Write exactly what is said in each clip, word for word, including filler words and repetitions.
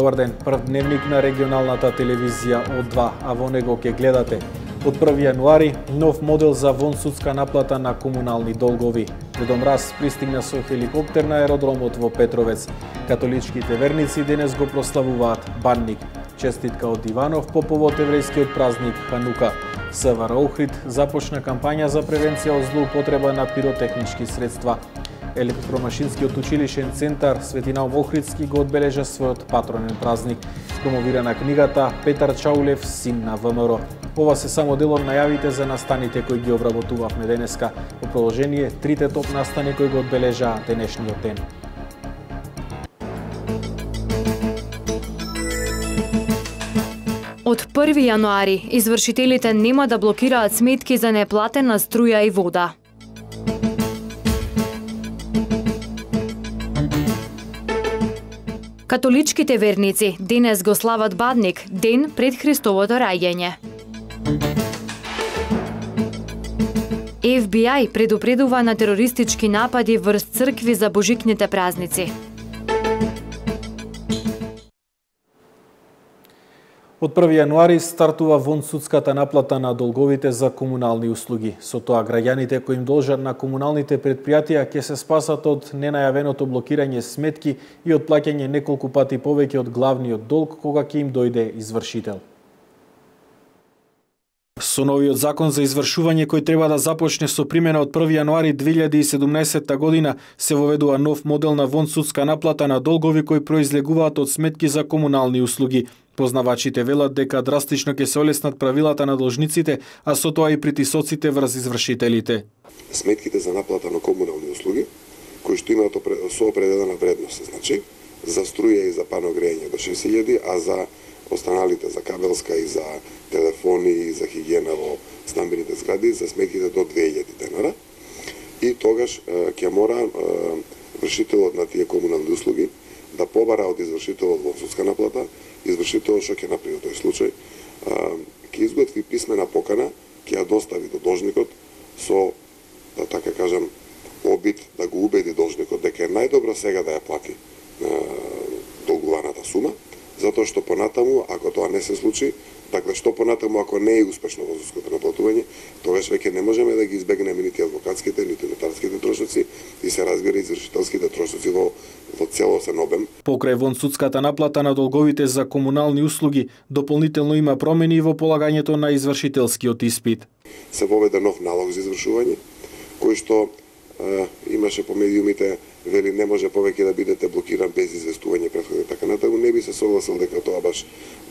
Добар ден, прв дневник на регионалната телевизија од два, а во него ќе гледате. Од први јануари, нов модел за вонсудска наплата на комунални долгови. Дедо Мраз пристигна со хеликоптер на аеродромот во Петровец. Католичките верници денес го прославуваат Банник. Честитка од Иванов по повод еврејскиот празник Ханука. СВР Охрид започна кампања за превенција од злоупотреба на пиротехнички средства. Електромашинскиот училишен центар Свети Наум Охридски го одбележа својот патронен празник. Промовирана книгата Петар Чаулев, син на ВМРО. Ова се само дел од најавите за настаните кои ги обработувавме денеска. Во продолжение, трите топ настани кои го одбележаа денешниот ден. Од први јануари, извршителите нема да блокираат сметки за неплатена струја и вода. Католичките верници денес го слават Бадник, ден пред Христовото раѓање. Еф Би Ај предупредува на терористички напади врз цркви за божикните празници. Од први јануари стартува вонсудската наплата на долговите за комунални услуги. Со тоа граѓаните кои им должат на комуналните предпријатија ќе се спасат од ненајавеното блокирање сметки и од плаќање неколку пати повеќе од главниот долг кога ќе им дојде извршител. Со новиот закон за извршување кој треба да започне со примена од први јануари две илјади и седумнаесетта година се воведува нов модел на вонсудска наплата на долгови кои произлегуваат од сметки за комунални услуги. Познавачите велат дека драстично ќе се олеснат правилата на должниците, а со тоа и притисоците врз извршителите. Сметките за наплата на комунални услуги, кои што имаат со определена вредност, значи за струја и за паногрејање до шест илјади, а за останалите, за кабелска и за телефони и за хигиена во стамбените згради, за сметките до две илјади денара. И тогаш ќе мора вршителот на тие комунални услуги да побара од извршителот во судска наплата, извршителот што ќе направи во тој случај, ќе изготви писмена покана, ќе ја достави до должникот со, да така кажам, обид да го убеди должникот дека е најдобро сега да ја плати долгуваната сума, затоа што понатаму, ако тоа не се случи, dakle што понатаму ако не е успешно во судското наплатување, тогаш веќе не можеме да ги избегнеме нити адвокатските, нити нотарските трошоци и се разбира извршителските трошоци во во целосен обем. Покрај вонсудската наплата на долговите за комунални услуги, дополнително има промени во полагањето на извршителскиот испит. Се воведе нов налог за извршување, кој што е, имаше по медиумите вели не може повеќе да бидете блокиран без известување претходно и така натаму. Не би се согласил дека тоа баш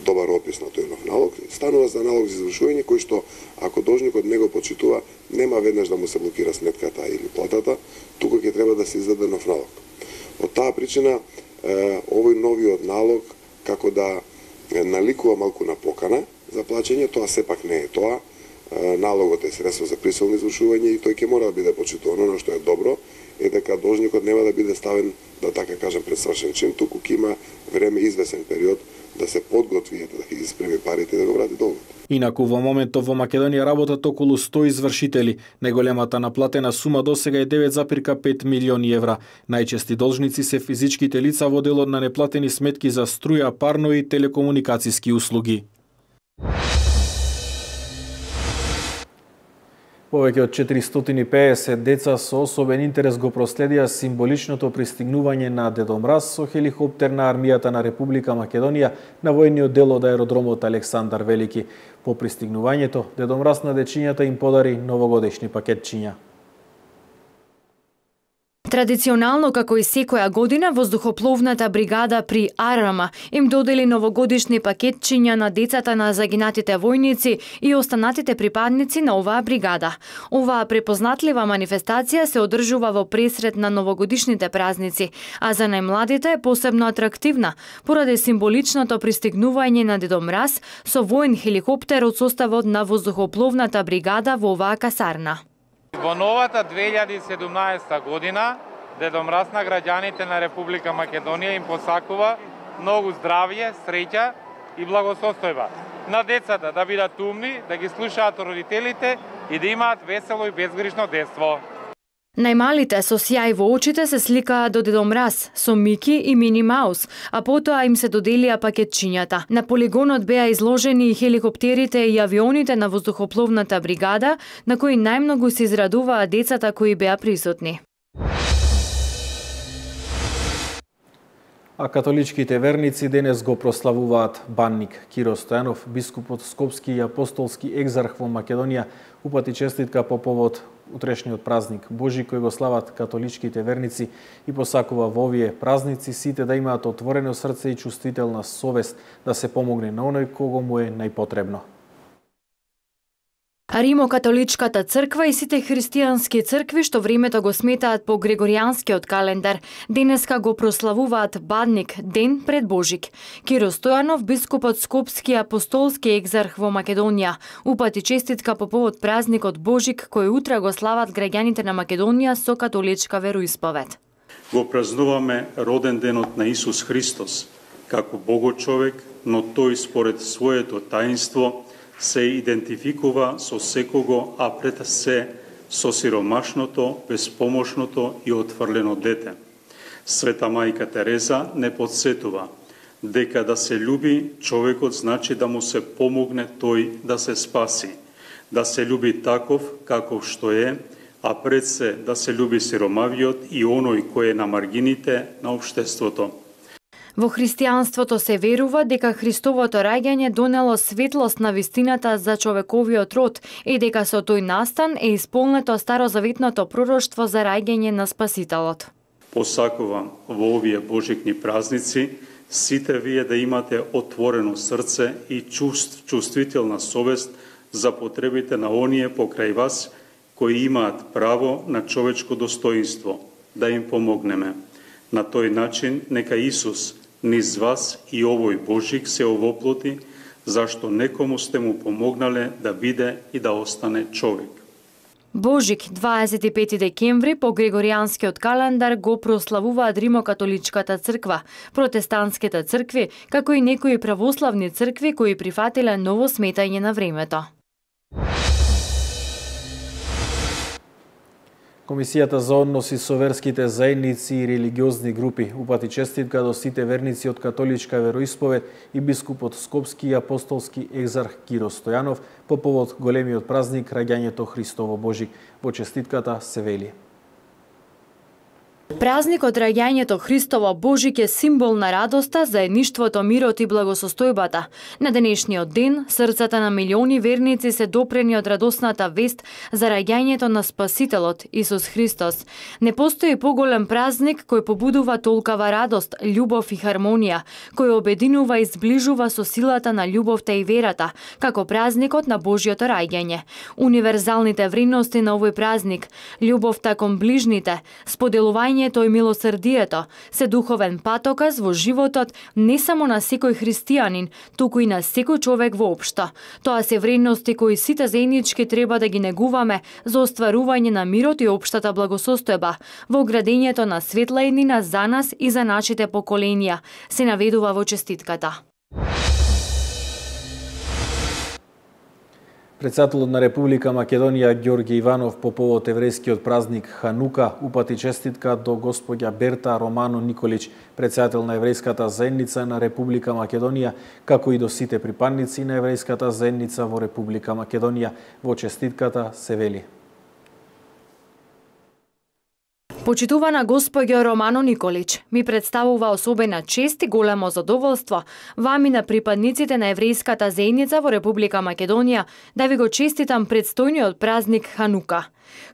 добар опис на тој нов налог. Станува за налог за извршување кој што ако должникот не го почитува, нема веднаш да му се блокира сметката или платата, туку ќе треба да се издаде нов налог. Од таа причина овој новиот налог како да наликува малку на покана за плаќање, тоа сепак не е тоа. Налогот е средство за присилно извршување и тој ќе мора да биде почитуван. Оно што е добро е дека должникот нема да биде ставен, да така кажам, пред свршен чин, туку ќе има време, извесен период да се подготви, да ќе испреми парите и да го врати долгот. Инаку во моментов во Македонија работат околу сто извршители. Најголемата наплатена сума досега е девет запирка пет милиони евра. Најчести должници се физичките лица во делот на неплатени сметки за струја, парно и телекомуникацијски услуги. Повеќе од четиристотини и педесет деца со особен интерес го проследија символичното пристигнување на Дедо Мраз со хеликоптер на армијата на Република Македонија на војниот дел од аеродромот Александар Велики. По пристигнувањето, Дедо Мраз на дечињата им подари новогодишни пакетчиња. Традиционално, како и секоја година, воздухопловната бригада при Арама им додели новогодишни пакетчиња на децата на загинатите војници и останатите припадници на оваа бригада. Оваа препознатлива манифестација се одржува во пресред на новогодишните празници, а за најмладите е посебно атрактивна, поради символичното пристигнување на Дедо Мраз со воен хеликоптер од составот на воздухопловната бригада во оваа касарна. Во новата две илјади и седумнаесета година, Дедо Мраз на граѓаните на Република Македонија им посакува многу здравје, среќа и благосостојба. На децата да бидат умни, да ги слушаат родителите и да имаат весело и безгришно детство. Најмалите со сјај во очите се сликаа до Дедо Мраз, со Мики и Мини Маус, а потоа им се доделија пакетчињата. На полигонот беа изложени и хеликоптерите и авионите на воздухопловната бригада, на кои најмногу се израдуваа децата кои беа присутни. А католичките верници денес го прославуваат банник. Киро Стојанов, бискупот Скопски и апостолски екзарх во Македонија, упати честитка по повод утрешниот празник Божи кој го слават католичките верници и посакува во овие празници сите да имаат отворено срце и чувствителна совест да се помогне на оној кого му е најпотребно. Римо-католичката црква и сите христијански цркви што времето го сметаат по григоријанскиот календар, денеска го прославуваат Бадник, ден пред Божик. Киро Стојанов, бискупот Скопски и апостолски екзарх во Македонија, упати честитка по повод празникот Божик кој утре го слават граѓаните на Македонија со католичка вероисповед. Го празнуваме роден денот на Исус Христос, како Богочовек, но тој според своето таинство се идентификува со секого, а пред се со сиромашното, безпомошното и отфрлено дете. Света мајка Тереза не подсетува дека да се љуби човекот значи да му се помогне тој да се спаси, да се љуби таков каков што е, а пред се да се љуби сиромавиот и оној кој е на маргините на општеството. Во христијанството се верува дека Христовото раѓање донело светлост на вистината за човековиот род и дека со тој настан е исполнето старозаветното пророштво за раѓање на Спасителот. Посакувам во овие божикни празници сите вие да имате отворено срце и чувств, чувствителна совест за потребите на оние покрај вас кои имаат право на човечко достоинство, да им помогнеме. На тој начин нека Исус низ вас и овој Божик се овоплоти, зашто некому сте му помогнале да биде и да остане човек. Божик, дваесет и пети декември по григоријанскиот календар го прославуваат Римо-католичката црква, протестантските цркви, како и некои православни цркви кои прифатиле ново сметање на времето. Комисијата за односи со верските заедници и религиозни групи упати честитка до сите верници од католичка вероисповед и бискупот Скопски и апостолски екзарх Киро Стојанов по повод големиот празник раѓањето Христово Божик. Во честитката се вели: Празникот раѓањето Христово Божик е символ на радоста, заедништвото, мирот и благосостојбата. На денешниот ден, срцата на милиони верници се допрени од радосната вест за раѓањето на Спасителот Исус Христос. Не постои поголем празник кој побудува толкава радост, љубов и хармонија, кој обединува и зближува со силата на љубовта и верата, како празникот на Божјото раѓање. Универзалните вредности на овој празник, љубовта кон ближните, споделување и милосрдието се духовен патоказ во животот не само на секој христијанин, туку и на секој човек воопшто. Тоа се вредности кои сите заеднички треба да ги негуваме за остварување на мирот и општата благосостојба во градењето на светла еднина за нас и за нашите поколенија, се наведува во честитката. Председателот на Република Македонија Ѓорѓе Иванов по повод еврејскиот празник Ханука упати честитка до господја Берта Романо Николич, председател на еврејската заедница на Република Македонија, како и до сите припадници на еврејската заедница во Република Македонија. Во честитката се вели: Почитувана господјо Романо Николич, ми представува особена чест и големо задоволство вами на припадниците на еврејската заедница во Република Македонија да ви го честитам предстојниот празник Ханука.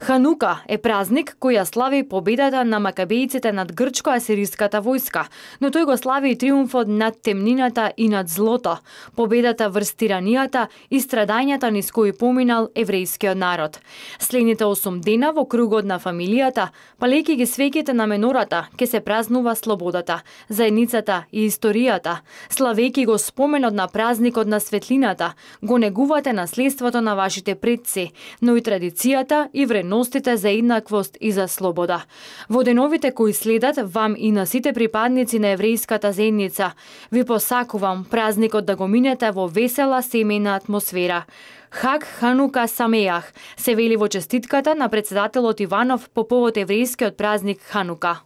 Ханука е празник кој ја слави победата на макабејците над грчко-асириската војска, но тој го слави и триумфот над темнината и над злото, победата врз тиранијата и страдањата низ кои поминал еврејскиот народ. Следните осум дена во кругот на фамилијата, палејќи ги свеќите на менората, ке се празнува слободата, заедницата и историјата. Славејќи го споменот на празникот на светлината, го негувате наследството на вашите предци, но и традицијата и и вредностите за еднаквост и за слобода. Во деновите кои следат, вам и на сите припадници на еврејската заедница, ви посакувам празникот да го минете во весела семејна атмосфера. Хаг Ханука Самеах се вели во честитката на председателот Иванов по повод еврејскиот празник Ханука.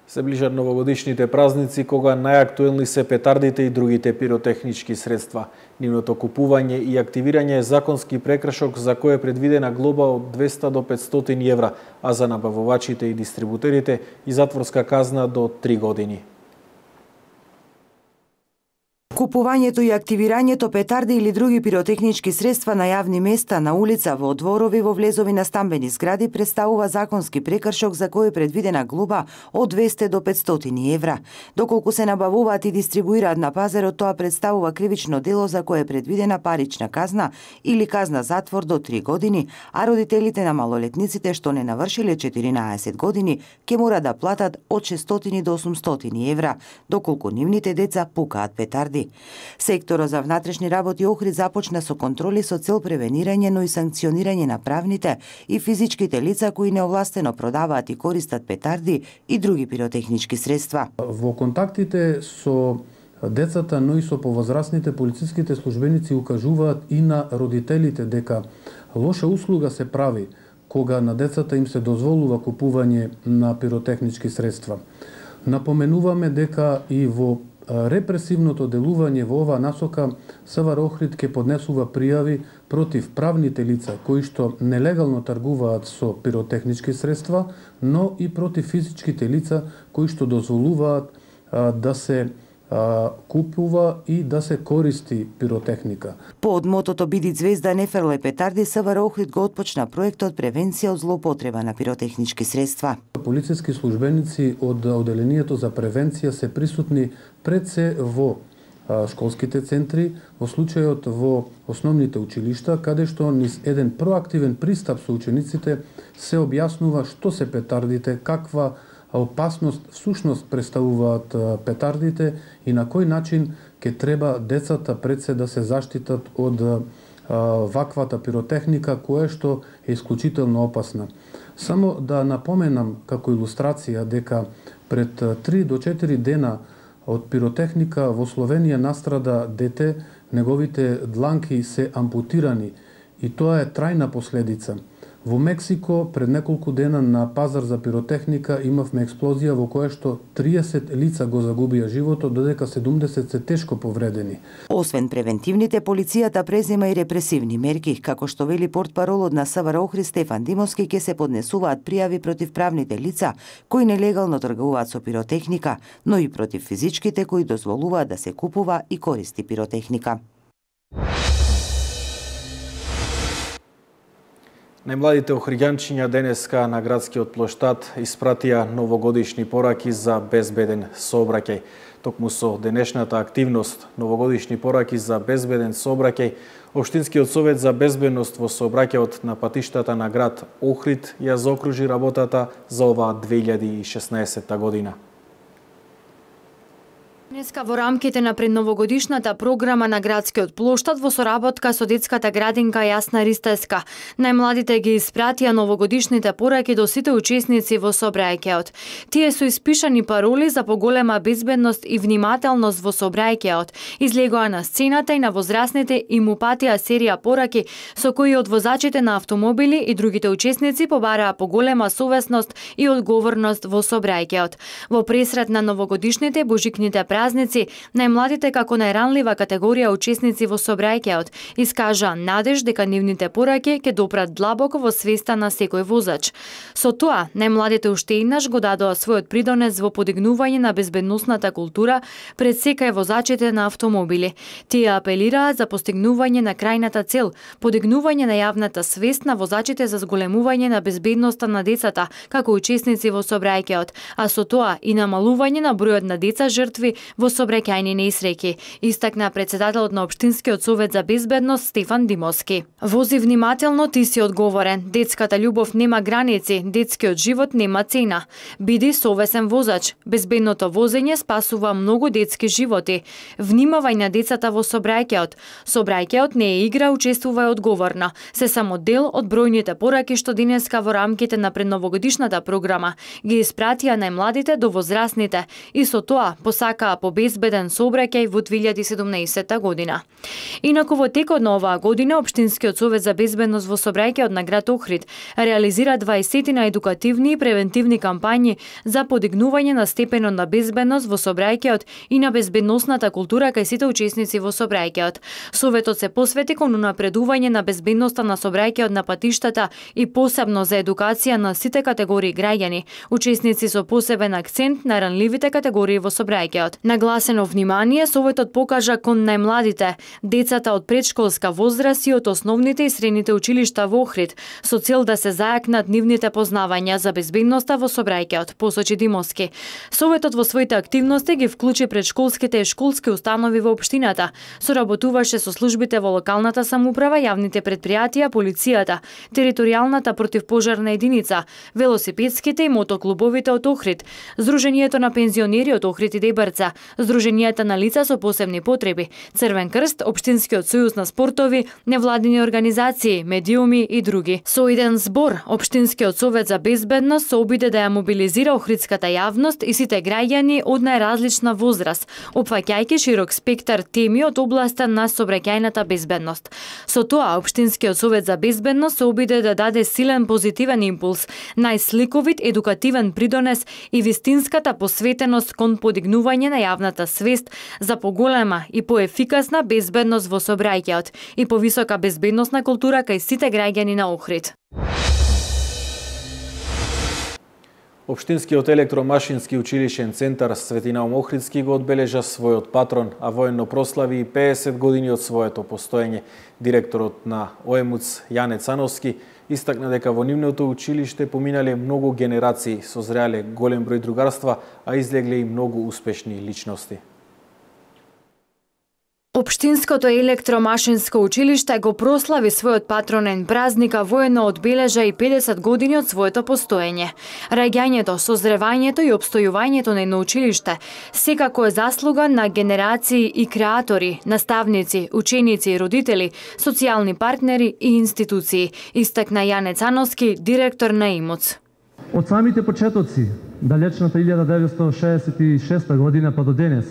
Се ближат новогодишните празници, кога најактуелни се петардите и другите пиротехнички средства. Нивното купување и активирање е законски прекршок за кој е предвидена глоба од двеста до петстотини евра, а за набавувачите и дистрибутерите и затворска казна до три години. Купувањето и активирањето петарди или други пиротехнички средства на јавни места, на улица, во дворови, во влезови на стамбени згради представува законски прекршок за кој е предвидена глоба од двеста до петстотини евра. Доколку се набавуваат и дистрибуираат на пазарот, тоа представува кривично дело за кое е предвидена парична казна или казна затвор до три години, а родителите на малолетниците што не навршиле четиринаесет години ќе мора да платат од шестстотини до осумстотини евра, доколку нивните деца пукаат петарди. Секторот за внатрешни работи Охрид започна со контроли со цел превенирање, но и санкционирање на правните и физичките лица кои неовластено продаваат и користат петарди и други пиротехнички средства. Во контактите со децата, но и со повозрастните, полициските службеници укажуваат и на родителите дека лоша услуга се прави кога на децата им се дозволува купување на пиротехнички средства. Напоменуваме дека и во репресивното делување во оваа насока СВР Охрид ќе поднесува пријави против правните лица кои што нелегално тргуваат со пиротехнички средства, но и против физичките лица кои што дозволуваат а, да се а, купува и да се користи пиротехника. По одмотото Биди звезда, не фрлај петарди, СВР Охрид го отпочна проектот превенција од злоупотреба на пиротехнички средства. Полициски службеници од Оделението за превенција се присутни пред се во школските центри, во случајот во основните училишта, каде што низ еден проактивен пристап со учениците се објаснува што се петардите, каква опасност всушност представуваат петардите и на кој начин ќе треба децата пред се да се заштитат од ваквата пиротехника, која што е исклучително опасна. Само да напоменам како илустрација дека пред три до четири дена од пиротехника во Словенија настрада дете, неговите дланки се ампутирани и тоа е трајна последица. Во Мексико пред неколку дена на пазар за пиротехника имавме експлозија во која што триесет лица го загубија животот, додека седумдесет се тешко повредени. Освен превентивните, полицијата презема и репресивни мерки, како што вели портпаролот на СВР Охрид Стефан Димовски, ќе се поднесуваат пријави против правните лица кои нелегално тргуваат со пиротехника, но и против физичките кои дозволуваат да се купува и користи пиротехника. Најмладите охриѓанчиња денеска на градскиот плоштад испратија новогодишни пораки за безбеден сообраќај. Токму со денешната активност новогодишни пораки за безбеден сообраќај, Општинскиот совет за безбедност во сообраќајот на патиштата на град Охрид ја заокружи работата за оваа две илјади и шеснаесетта година. Днеска во рамките на предновогодишната програма на градскиот плоштад во соработка со детската градинка Јасна Ристеска, најмладите ги испратија новогодишните пораки до сите учесници во сообраќајот. Тие се испишани пароли за поголема безбедност и внимателност во сообраќајот. Излегоа на сцената и на возрастните им упатија серија пораки со кои од возачите на автомобили и другите учесници побараа поголема совесност и одговорност во сообраќајот. Во пресрет на новогодишните божикните празници, најмладите како најранлива категорија учесници во сообраќајот искажаа надеж дека нивните пораки ќе допрат длабоко во свеста на секој возач. Со тоа, најмладите уште еднаш го дадоа својот придонес во подигнување на безбедносната култура пред секај возачите на автомобили. Тие апелираа за постигнување на крајната цел, подигнување на јавната свест на возачите за зголемување на безбедноста на децата како учесници во сообраќајот, а со тоа и намалување на бројот на деца жртви во сообраќајни несреќи, истакна председателот на Општинскиот совет за безбедност Стефан Димовски. Вози внимателно, ти си одговорен. Детската љубов нема граници, детскиот живот нема цена. Биди совесен возач. Безбедното возење спасува многу детски животи. Внимавај на децата во сообраќајот. Сообраќајот не е игра, учествувај одговорно. Се само дел од бројните пораки што денеска во рамките на предновогодишната програма ги испратија најмладите до возрастните и со тоа посакаа по безбеден сообраќај во две илјади и седумнаесетта година. Инаку во текот на оваа година Општинскиот совет за безбедност во сообраќајот на град Охрид реализира дваесетина едукативни и превентивни кампањи за подигнување на степенот на безбедност во сообраќајот и на безбедносната култура кај сите учесници во сообраќајот. Советот се посвети кон унапредување на безбедноста на сообраќајот на патиштата и посебно за едукација на сите категории граѓани, учесници со посебен акцент на ранливите категории во сообраќајот. Нагласено внимание Советот покажа кон најмладите, децата од предшколска возраст и од основните и средните училишта во Охрид, со цел да се зајакнат нивните познавања за безбедноста во сообраќајот, посочи Димовски. Советот во своите активности ги вклучи предшколските и школски установи во општината, соработуваше со службите во локалната самоуправа, јавните предпријатија, полицијата, територијалната противпожарна единица, велосипедските и мотоклубовите од Охрид, Сдруженијето на пензионери од Охрид и Дебарца, Сдруженијата на лица со посебни потреби, Црвен крст, Општинскиот сојуз на спортови, невладини организации, медиуми и други. Со еден збор, Општинскиот совет за безбедност се обиде да ја мобилизира охридската јавност и сите граѓани од најразлична возраст, опфаќајќи широк спектар теми од областа на сообраќајната безбедност. Со тоа, Општинскиот совет за безбедност се обиде да даде силен позитивен импулс, најсликовит едукативен придонес и вистинската посветеност кон подигнување на јавната свест за поголема и поефикасна безбедност во сообраќајот и повисока безбедносна култура кај сите граѓани на Охрид. Општинскиот електромашински училишен центар Светинаум Охридски го одбележа својот патрон, а воено прослави и пеесет години од своето постоење. Директорот на ОЕМУЦ Јане Цановски истакна дека во нивното училиште поминале многу генерации, созреале голем број другарства, а излегле и многу успешни личности. Општинското електромашинско училиште го прослави својот патронен празник, а воено одбележа и педесет години од своето постоење. Раѓањето, созревањето и обстојувањето на едно училиште секако е заслуга на генерации и креатори, наставници, ученици, родители, социјални партнери и институции, истакна Јане Цановски, директор на ИМУЦ. Од самите почетоци, далечната илјада деветстотини шеесет и шеста година па до денес,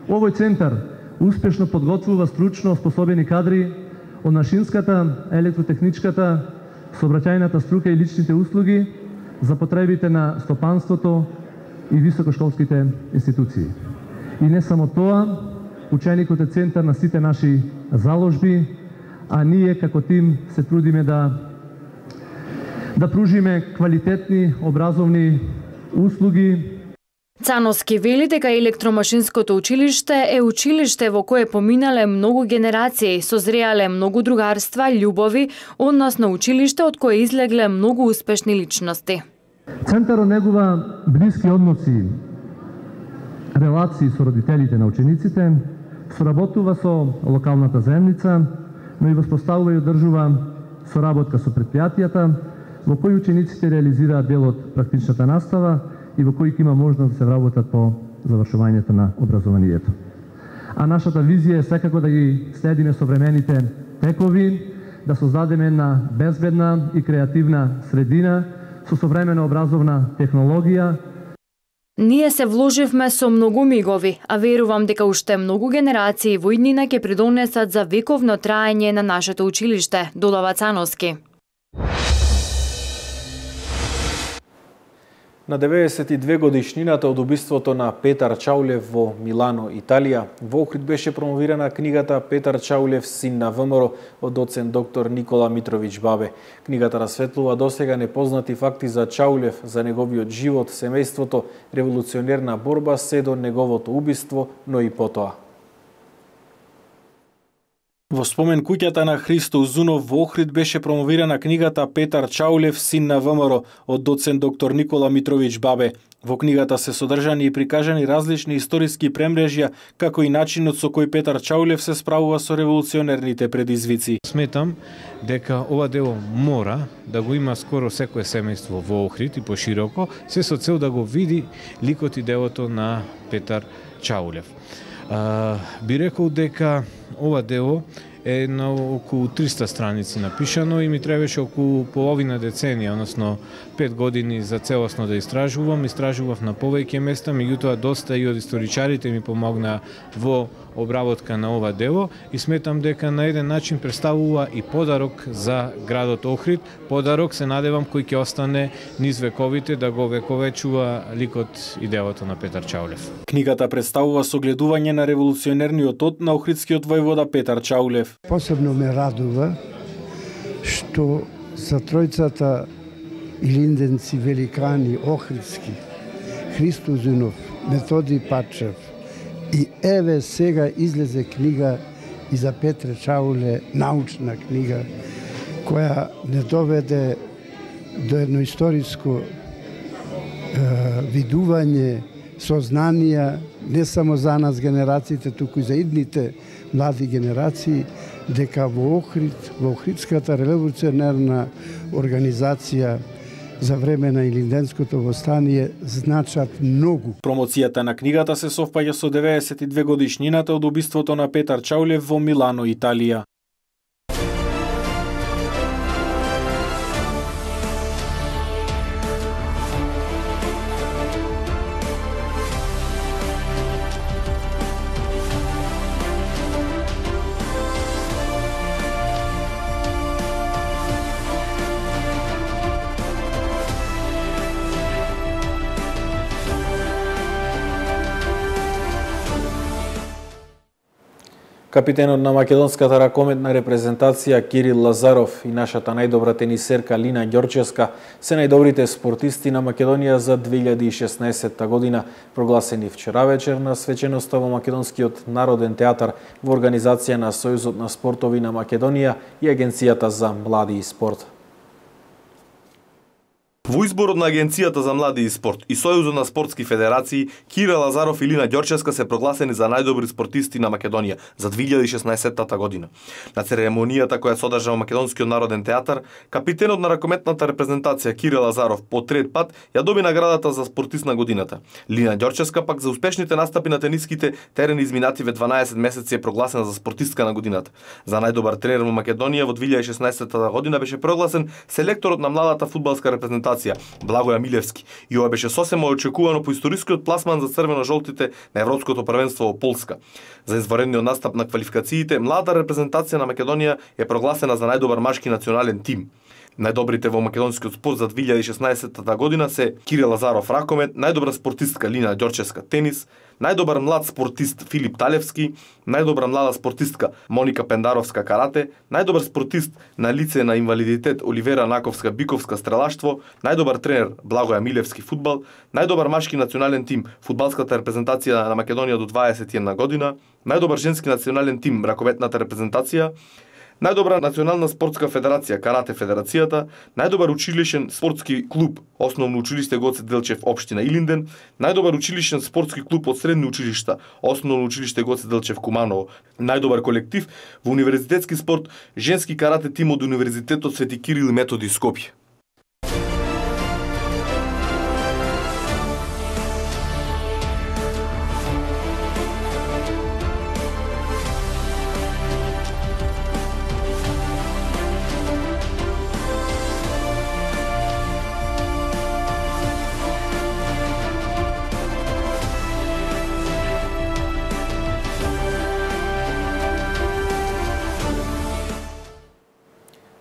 овој центар успешно подготвува стручно способени кадри од машинската, електротехничката, сообраќајната струка и личните услуги за потребите на стопанството и високошколските институции. И не само тоа, ученикот е центар на сите наши заложби, а ние како тим се трудиме да да пружиме квалитетни образовни услуги. Цановски вели дека електромашинското училиште е училиште во кое поминале многу генерации, созреале многу другарства, љубови, односно училиште од кое излегле многу успешни личности. Центарот негува блиски односи, релации со родителите на учениците, соработува со локалната заемница, но и воспоставува и одржува соработка со предпријатијата, во кои учениците реализираат дел од практичната настава и во кои има можност да се вработат по завршувањето на образованието. А нашата визија е секако да ги следиме современите текови, да создадеме една безбедна и креативна средина со современа образовна технологија. Ние се вложивме со многу мигови, а верувам дека уште многу генерации во иднина ќе придонесат за вековно траење на нашето училиште, додава Цановски. На деветдесет и две годишнината од убиството на Петар Чаулев во Милано, Италија, во Охрид беше промовирана книгата Петар Чаулев, син на ВМРО од доцент доктор Никола Митровиќ Бабе. Книгата расветлува досега непознати факти за Чаулев, за неговиот живот, семејството, револуционерна борба, се до неговото убиство, но и потоа. Во спомен куќата на Христо Узунов во Охрид беше промовирана книгата Петар Чаулев, син на ВМРО, од доцент доктор Никола Митровиќ Бабе. Во книгата се содржани и прикажани различни историски премрежја, како и начинот со кој Петар Чаулев се справува со револуционерните предизвици. Сметам дека ова дело мора да го има скоро секое семејство во Охрид и пошироко, се со цел да го види ликот и делото на Петар Чаулев. А, би рекол дека ова дело е на околу триста страници напишано и ми требаше околу половина деценија, односно пет години за целосно да истражувам. Истражував на повеќе места, меѓутоа доста и од историчарите ми помогна во обработка на ова дело и сметам дека на еден начин представува и подарок за градот Охрид, подарок се надевам кој ќе остане низ вековите да го вековечува ликот и делото на Петар Чаулев. Книгата представува согледување на револуционерниот од на охридскиот војвода Петар Чаулев. Посебно ме радува што за тројцата илинденци великани охридски, Христо Узунов, Методи Пачев и еве сега излезе книга и за Петре Чауле, научна книга, која не доведе до едно историско е, видување, сознанија, не само за нас генерациите, туку и за идните млади генерации, дека во Охрид, во Охридската револуционерна организација за време на Илинденското востание значат многу. Промоцијата на книгата се совпаѓа со деветдесет и две годишнината од убиството на Петар Чаулев во Милано, Италија. Капитенот на македонската ракометна репрезентација Кирил Лазаров и нашата најдобра тенисерка Лина Ѓорчевска се најдобрите спортисти на Македонија за две илјади и шеснаесетта година, прогласени вчера вечер на свеченоста во Македонскиот народен театар во организација на Сојузот на спортови на Македонија и Агенцијата за млади и спорт. Во изборот на Агенцијата за млади и спорт и Сојузот на спортски федерации, Кирил Лазаров и Лина Ѓорчевска се прогласени за најдобри спортисти на Македонија за две илјади и шеснаесетта година. На церемонијата која содржа во Македонскиот народен театар, капитенот на ракометната репрезентација Кирил Лазаров по трет пат ја доби наградата за спортист на годината. Лина Ѓорчевска пак за успешните настапи на тениските терени изминативе дванаесет месеци е прогласена за спортистка на годината. За најдобар тренер во Македонија во две илјади и шеснаесетта година беше прогласен селекторот на младата фудбалска репрезентација Благоја Милевски и ова беше сосема очекувано по историскиот пласман за црвено-жолтите на Европското првенство во Полска. За изваредниот настап на квалификациите, млада репрезентација на Македонија е прогласена за најдобар машки национален тим. Најдобрите во македонскиот спорт за две илјади и шеснаесетта година се Кирил Лазаров ракомет, најдобра спортистка Лина Ѓорчевска тенис, најдобар млад спортист Филип Талевски, најдобра млада спортистка Моника Пендаровска карате, најдобар спортист на лице на инвалидитет Оливера Наковска Биковска стрелаштво, најдобар тренер Благоја Милевски фудбал, најдобар машки национален тим фудбалската репрезентација на Македонија до дваесет и една година, најдобар женски национален тим ракометната репрезентација, најдобра национална спортска федерација Карате федерацијата, најдобар училишен спортски клуб Основно училиште Гоце Делчев општина Илинден, најдобар училишен спортски клуб од средни училишта Основно училиште Гоце Делчев Куманово, најдобар колектив во универзитетски спорт женски карате тим од Универзитетот Свети Кирил и Методи Скопје.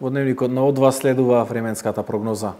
Во дневникот на О два следува временската прогноза.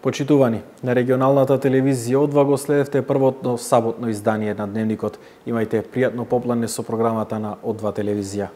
Почитувани, на регионалната телевизија О два го следевте првото саботно издание на Дневникот. Имајте пријатно поплане со програмата на О два телевизија.